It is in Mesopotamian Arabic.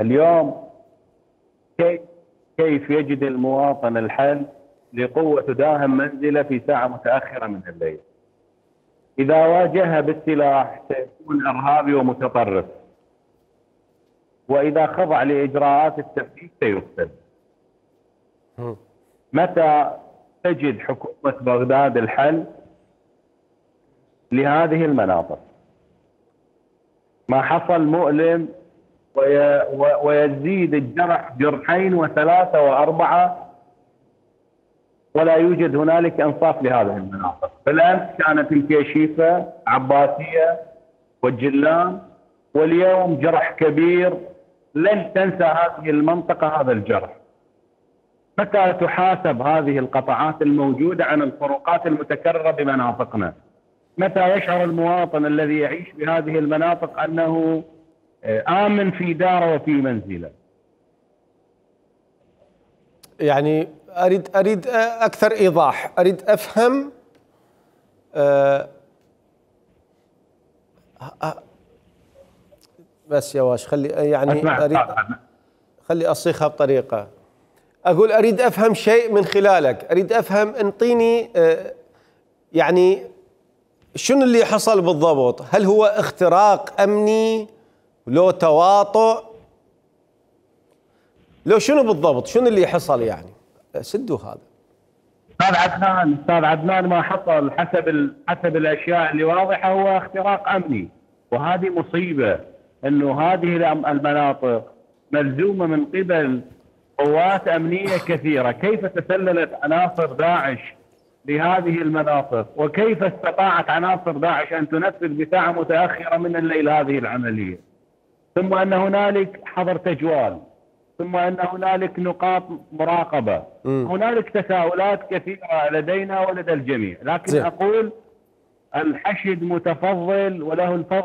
اليوم كيف كيف يجد المواطن الحل لقوة تداهم منزله في ساعة متأخرة من الليل؟ إذا واجهها بالسلاح سيكون إرهابي ومتطرف، وإذا خضع لإجراءات التفتيش سيقتل. متى تجد حكومة بغداد الحل لهذه المناطق؟ ما حصل مؤلم ويزيد الجرح جرحين وثلاثة وأربعة، ولا يوجد هنالك إنصاف لهذه المناطق. بالأمس كانت الكيشيفة عباسية والجلان، واليوم جرح كبير لن تنسى هذه المنطقة هذا الجرح. متى تحاسب هذه القطاعات الموجودة عن الفروقات المتكررة بمناطقنا؟ متى يشعر المواطن الذي يعيش بهذه المناطق أنه آمن في داره وفي منزله؟ يعني أريد أكثر إيضاح، أريد أفهم. بس يا واش خلي يعني خلي أصيغها بطريقة. أقول أريد أفهم شيء من خلالك، أريد أفهم، انطيني يعني شنو اللي حصل بالضبط؟ هل هو اختراق أمني؟ لو تواطؤ؟ لو شنو بالضبط؟ شنو اللي حصل يعني؟ سدوا هذا. أستاذ عدنان ما حصل حسب الأشياء اللي واضحة هو اختراق أمني، وهذه مصيبة أنه هذه المناطق ملزومة من قبل قوات أمنية كثيرة. كيف تسللت عناصر داعش لهذه المناطق، وكيف استطاعت عناصر داعش أن تنفذ بساعة متأخرة من الليل هذه العملية؟ ثم أن هنالك حظر تجوال، ثم أن هنالك نقاط مراقبة. هنالك تساؤلات كثيرة لدينا ولدى الجميع، لكن أقول الحشد متفضل وله الفضل.